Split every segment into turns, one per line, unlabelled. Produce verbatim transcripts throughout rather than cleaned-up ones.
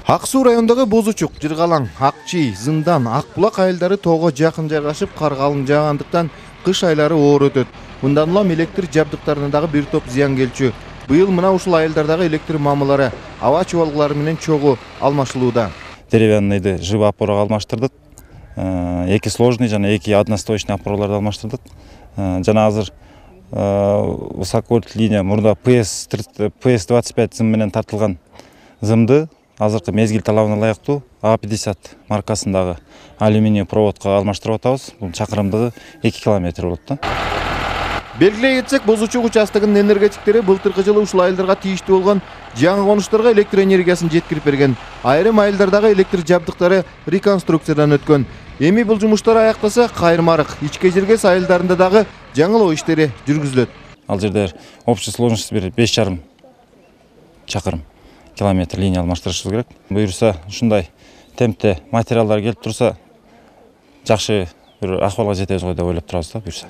Ак Суу районундагы Бозучук, Жыргалаң, Акчий, Зындан, Ак Булак айылдары тоого жакын жайгашып, кар калың жаагандыктан кыш айлары оор өтөт. Мындан улам электр жабдыктарына дагы бир топ зыян келчү. Быйыл мына ушул айылдардагы электр мамылары аба чубалгылары менен чогуу алмашылууда.
Деревянныйды живый опорага алмаштырдык. Эки сложный жана эки одностоечный опораларды алмаштырдык. Жана азыр высоковольт линия мурда ПС двадцать пять зым менен тартылган зымды азыркы мезгил талабына ылайыктуу А пятьдесят маркасындагы алюминий проводко алмаштырып атабыз. Бул чакырымдыгы эки километр болот да.
Белгилей кетсек, Бозучук участогунун энергетиктери былтыркы жылы ушул айылдарга тийиштүү болгон жаңы конуштарга электр энергиясын жеткирип берген. Айрым айылдардагы электр жабдыктары реконструкциядан өткөн. Эми бул жумуштар аяктаса, кайырмарык ичке жергес айылдарында дагы жаңылоо иштери жүргүзүлөт.
Ал жерде общий сложность бир беш жарым чакырым километр линия алмаштырышыбыз керек. Буюрса ушундай темпте материалдар келип турса, жакшы бир акыбалга жетебиз го деп ойлоп турабыз да буюрса.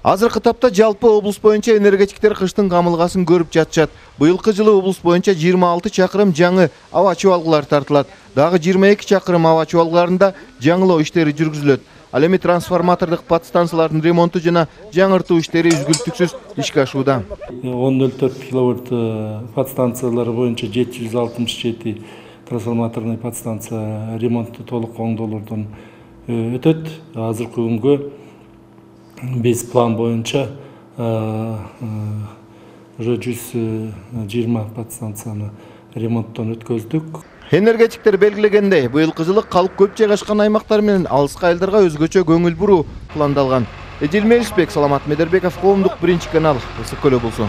Азыркы тапта жалпы облус боюнча энергетиктер кыштын камылгасын көрүп жатышат. Быйылкы жылы облус боюнча жыйырма алты чакырым жаңы аба чубалгылар тартылат. Дагы жыйырма эки чакырым аба чубалгыларында жаңылоо иштери жүргүзүлөт. Ал эми трансформатордук подстанциялардын ремонту жана жаңыртуу иштери үзгүлтүксүз ишке ашууда.
он ноль төрт киловольт подстанциялары боюнча жети жүз алтымыш жети трансформаторный подстанция ремонту толук оңдоолордон өтөт. Азыркы күнгө биз план боюнча уже жүз жыйырма подстанцияны ремонттон өткөздүк.
Энергетиктер белгилегендей, быйылкы жылы калк көп жайгашкан аймактар менен алыскы айылдарга өзгөчө көңүл буруу пландалган. Эдил Мелисбек, Саламат Медербеков, Коомдук биринчи канал, Ысык Көл облусу.